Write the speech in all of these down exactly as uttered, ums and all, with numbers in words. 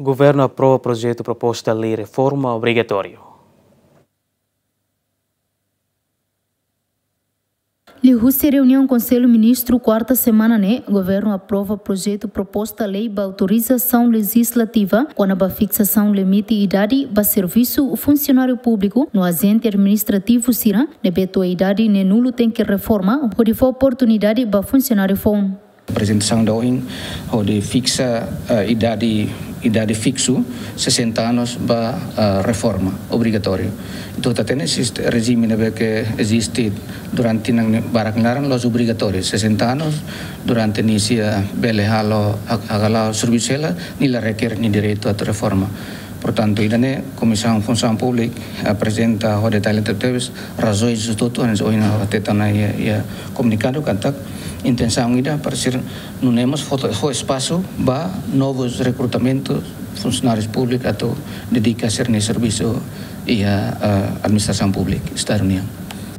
Governu aprova projetu proposta lei reforma obrigatóriu. Liuhusi reuniaun Konsellu Ministru kuarta semana ne'e, governu aprova projetu proposta lei ba autorizasaun lejizlativa kona-ba fiksasaun limite idade ba servisu funsionáriu públiku no ajente administrativu sira ne'ebé to'o idade neenulu tenke reforma, hodi fó oportunidade ba funsionáriu foun. Aprezentasaun ida ohin, hodi fiksa, eh, idade, idade fiksu, sesenta anos ba, eh, reforma obrigatóriu. Entaun, ita hatene sistema, rejime ne'ebé ke eziste durante tinan barak nia laran, la'ós obrigatóriu. Sesenta anos, durante nia sei bele halo, hak-, hala'o servisu hela, nia la rekere nia direitu atu reforma. Portantu, ida-ne'e Komisaun Funsaun Públika aprezenta ho detalle tebetebes, razaun hotu-hotu, hanesan ohin ha'u hateten ona iha, iha komunikadu katak intensaun ida para sira nune'e mós fó, fó espasu ba novus rekrutamentu funsionárius públiku atu dedika sira-nia servisu iha, eh, administrasaun públika Estadu nian.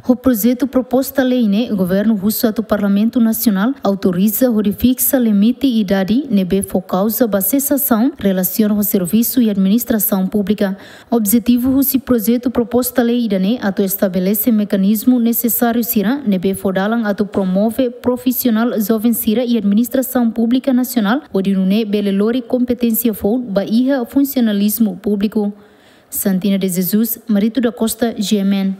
Ho projetu proposta lei ne'e, governu husu atu Parlamentu Nasionál autoriza hodi fiksa limite idade ne'ebé fó kauza ba sesasaun relasiona ho servisu iha administrasaun públika. Objetivu husi projetu proposta lei ida-ne'e atu estabelese mekanizmu nesesáriu sira ne'ebé fó dalan atu promove profisionál joven sira iha administrasaun públika nasionál, hodi nune'e bele lori kompeténsia foun ba iha funsionalizmu públiku. Santina de Jesus, Marito da Costa, G M N.